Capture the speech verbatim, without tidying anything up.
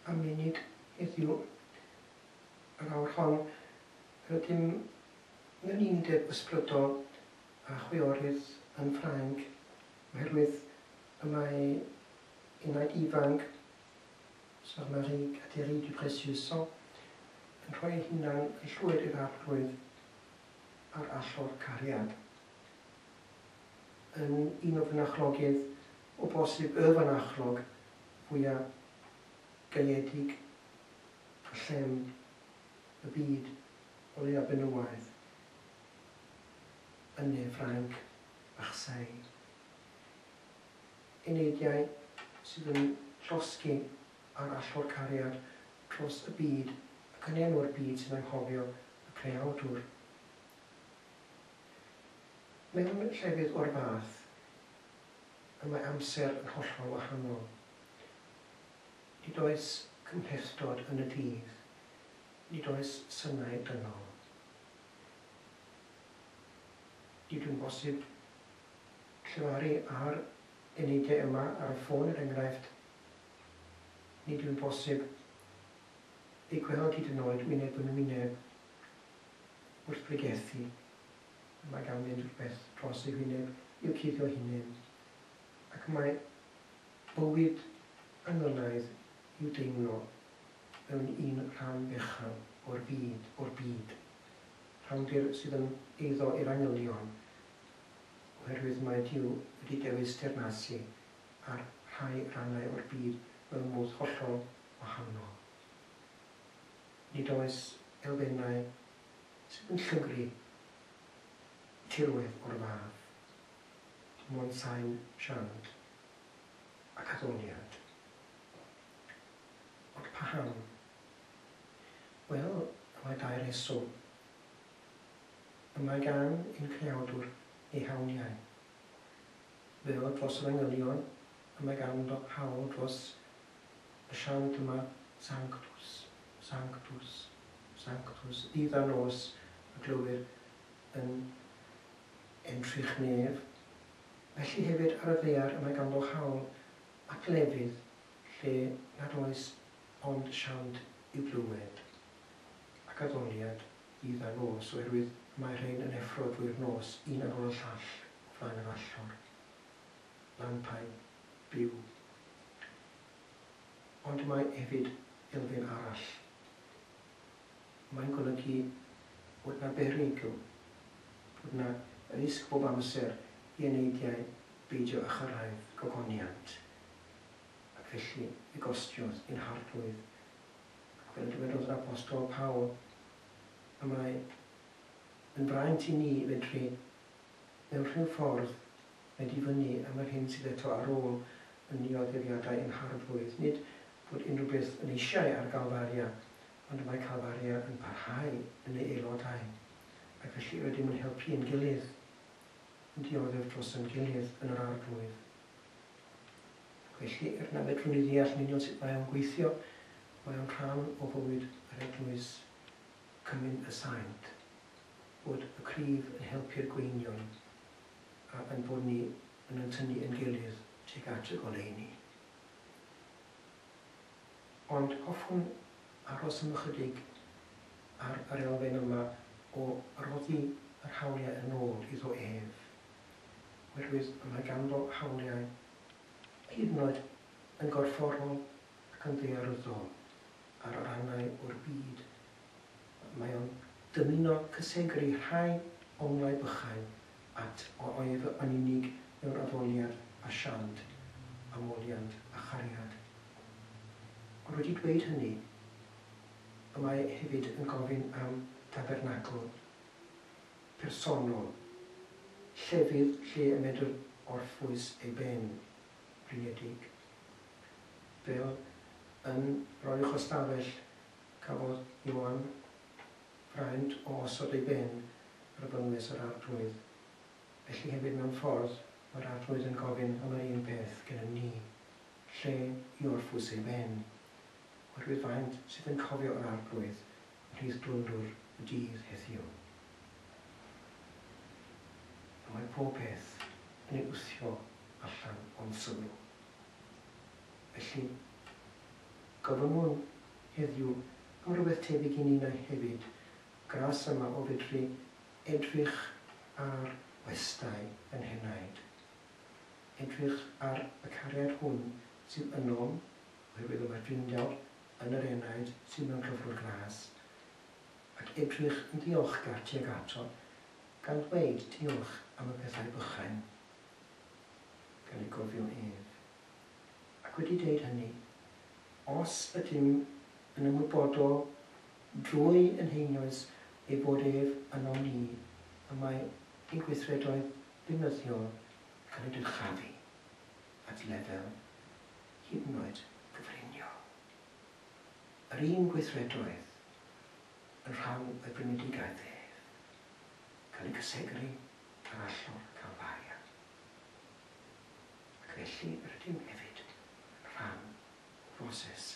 Am munud heddiw, yr awr hon, rydym mewn undeb ysbrydol â chwiorydd yn Ffrainc, oherwydd y mae enaid ifanc, Sœur Marie Kateri du Précieux Sang, yn rhoi ei hunan yn llwyr i'r Arglwydd ar allor cariad. Yn un o fynachlogydd, o bosib y fynachlog fwyaf gaeedig a llem y byd, o leia benywaidd, yn ne Ffrainc, Marseille. Eneidiau sydd yn llosgi ar allor cariad dros y byd ac yn enw'r byd sy'n anghofio y creawdwr. Mewn llefydd o'r fath, y mae amser yn hollol wahanol. Nid oes cymhlethdod yn y dydd, nid oes synau dynol. Nid yw'n bosib llefaru ar eneidiau yma ar y ffôn, er enghraifft. Nid yw'n bosib eu gweld hyd yn oed wyneb yn wyneb wrth bregethu. Mae ganddynt rhywbeth dros eu hwyneb i'w cuddio hunain, ac mae bywyd angylaidd i'w deimlo mewn un rhan fechan o'r byd, o'r byd. Rhandir sydd yn eiddo i'r angylion, oherwydd mae Duw wedi dewis teyrnasu ar rhai rhannau o'r byd mewn modd hollol wahanol. Nid oes elfennau sydd yn llygru tirwedd o'r fath, dim ond sain siant ac addoliad. Ond paham? Wel, y mae dau reswm. Y mae gan ein creawdwr ei hawliau. Fel dros yr angylion, y mae ganddo hawl dros y siant yma, Sanctus, Sanctus, Sanctus, ddydd a nos y glywir yn entrych nef. Felly hefyd ar y ddaear y mae ganddo hawl at lefydd lle nad oes ond siant i'w glywed ac addoliad ddydd a nos, oherwydd mae rhain yn effro drwy'r nos, un ar ôl y llall, o flaen yr allor. Lampau byw. Ond mae hefyd elfen arall. Mae'n golygu bod 'na berygl, bod 'na risg bob amser i eneidiau beidio â chyrraedd gogoniant, ac felly fe gostiodd ein Harglwydd. Ac fel y dywedodd yr Apostol Paul, y mae yn fraint i ni fedru mewn rhyw ffordd wneud i fyny am yr hyn sydd eto ar ôl yn nioddefiadau ein Harglwydd. Nid bod unrhyw beth yn eisiau ar Galfaria, ond mae Calfaria yn parhau yn ei aelodau, ac felly rydym yn helpu ein gilydd, yn dioddef dros ein gilydd yn yr Arglwydd. Ac felly, er na fedrwn ni ddeall yn union sut mae o'n gweithio, mae o'n rhan o fywyd yr Eglwys, Cymun y Saint, bod y cryf yn helpu'r gweinion, a ein bod ni yn yn tynnu ein gilydd tuag at y goleuni. Ond hoffwn aros am ychydig ar yr elfen yma o roddi yr hawliau yn ôl iddo ef, oherwydd y mae ganddo hawliau hyd yn oed yn gorfforol ac yn ddaearyddol ar rannau o'r byd. Mae o'n dymuno cysegru rhai onglau bychain at o ef yn unig mewn addoliad a siant, a moliant a chariad. Ond wedi dweud hynny, y mae hefyd yn gofyn am dabernacl personol, llefydd lle y medr orffwys ei ben, blinedig. Fel yn yr uwch ystafell cafodd Ioan fraint o osod ei ben ar fynwes yr Arglwydd. Felly hefyd mewn ffordd mae'r Arglwydd yn gofyn am yr un peth gennym ni, lle i orffwys ei ben, oherwydd faint sydd yn cofio yr Arglwydd ymhlith dwndwr y dydd heddiw. Y mae pob peth yn ei wthio allan o'n sylw. Felly, Gofynnwn heddiw am rywbeth tebyg i ninnau hefyd, gras yma o fedru edrych ar westai yn henaid. Edrych ar y cariad hwn sydd ynom, oherwydd y mae'r Drindod yn yr enaid sydd mewn cyflwr gras, ac edrych yn ddiolchgar tuag ato, gan ddweud diolch am y pethau bychain, gan ei gofio ef. Ac wedi deud hynny, os ydym yn ymwybodol drwy yn heinioes ei bod ef ynom ni, y mae ein gweithredoedd beunyddiol cael eu dyrchafu at lefel hyd yn oed gyfriniol. Yr un gweithredoedd yn rhan o'i brynedigaeth ef, cael eu cysegru ar allor Calfaria. Ac felly yr ydym hefyd yn rhan o broses